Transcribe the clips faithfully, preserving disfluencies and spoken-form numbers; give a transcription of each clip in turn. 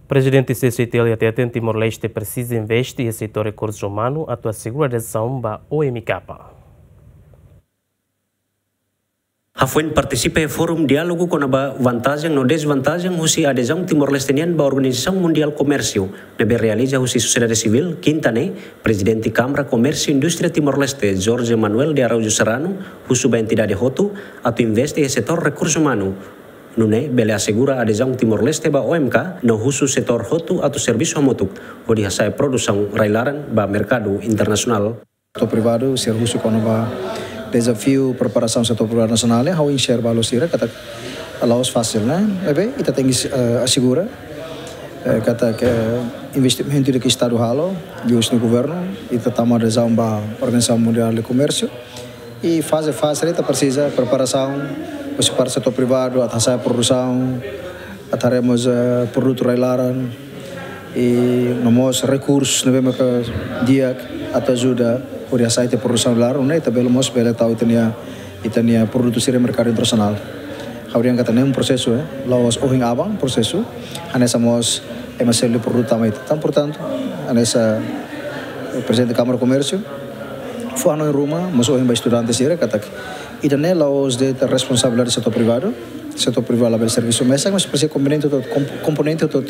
Prezidente C C I T L hateten Timor-Leste presiza investe iha setór rekursu umanu atu asegura adezaun ba O M K. Hafoin partisipa iha Fórum Diálogu kona-ba vantajen no dezvantajen husi adezaun Timor-Leste nian ba Organizasaun Mundiál Komérsiu, ne'ebé realiza husi sosiedade sivíl, kinta ne'e, Prezidente Kámara Komérsiu Indústria Timor-Leste, Jorge Manuel de Araújo Serrano, husu ba entidade hotu atu investe iha setór rekursu umanu, nune'e bele asegura adezaun Timor-Leste ba O M K, no husu setór hotu atu servisu hamutuk hodi hasa'e produsaun rai-laran ba merkadu internasionál. Setór privadu, sira husu kona-ba dezafiu preparasaun setór privadu nasionál, ha'u enxerga ba sira katak la'ós fasil, ne'e? Ne'ebé, ita tenke, eh, asegura, eh, katak, eh, investimentu ida ke Estadu halo, liuhusi governu, ita tama adezaun ba Organizasaun Mundiál de Komérsiu. I faze-faze ita presiza preparasaun, husi parte setór privadu, atu hasa'e produsaun, atu haree mós, eh, produtu rai-laran, i no mós rekursu ne'ebé maka di'ak atu ajuda hodi hasa'e ita-nia produsaun rai-laran, ne'e ita bele mós bele tau ita-nia, ita-nia produtu sira iha merkadu internasionál. Ha'u dehan katak ne'e prosesu, eh, la'ós ohin aban prosesu, hanesan mós ema seluk produtu tama ita. Entaun, portantu, hanesan, eh, Prezidente Kámara Komérsiu, fó hanoin ruma, mós ohin ba estudante sira, katak ida-ne'e la'ós de'it responsabilidade setór privadu, setór privadu labele servisu mesak, mas presiza komponente hotu, komp-, komponente hotu.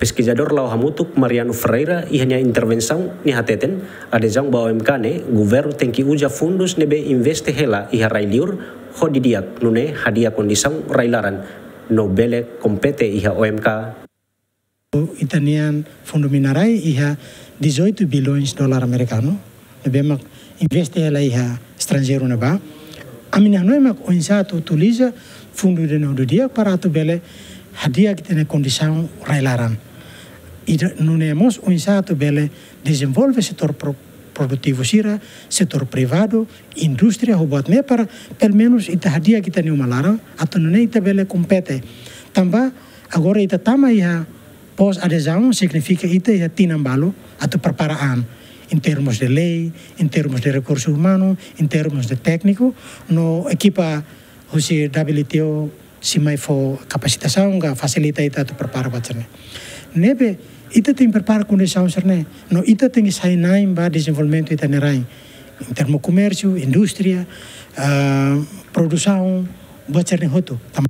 Peskizadór la'o hamutuk Mariano Ferreira iha nia intervensaun nia hateten, adezaun ba O M K ne'e, governu tenke uza fundus ne'ebé investe hela iha rai-liur hodi di'ak, nune'e hadi'a kondisaun rai-laran no bele kompete iha O M K. Ita-nia fundu mina-rai iha dezoito bilhões dólar amerikanu, ne'ebé mak investe hela iha estranjeiru ne'ebá. Ami-nia hanoin mak oinsá atu utiliza fundu ida-ne'e ho di'ak para atu bele hadi'a ita-nia kondisaun rai-laran. Ida nune'e mós oinsá atu bele dezenvolve setór pro-, produtivu sira, setór privadu, indústria, ho buat ne'e para, pelumenus, ita hadi'a ita-nia uma laran, atu nune'e ita bele kompete. Tanba, agora ita tama iha pós-adezaun, signifika ita iha tinan balu atu prepara an, em termos de lei, em termos de rekursu umanu, em termos de tékniku, no ekipa husi W T O sei mai fó kapasitasaun ka fasilita ita atu prepara buat sira-ne'e. Ne'ebé, ita tenke prepara kondisaun sira-ne'e, no ita tenke sai na'in ba dezenvolvimentu ita-nia rain, em termos komérsiu, indústria, ah, produsaun, buat sira-ne'e hotu. Tam-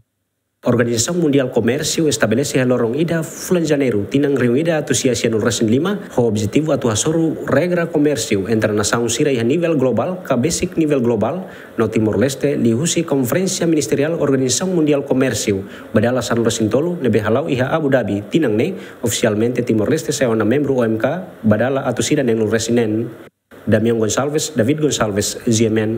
Organizasaun Mundiál Komérsiu estabelese iha loron ida fulan Janeiru, tinan rihun ida atus sia sianulu-resin-lima, ho objetivu atu hasoru regra komérsiu entre nasaun sira iha nivel globál, ka besik nivel globál, no Timor-Leste, liuhusi Konferénsia Ministeriál Organizasaun Mundiál Komérsiu, ba dala sanulu-resin-tolu, ne'ebé hala'o iha Abu Dhabi, tinan ne'e, ofisialmente Timor-Leste sai ona membru O M K, ba dala atus ida neenulu-resin-neen. Damião Gonçalves, David Gonçalves, G M N,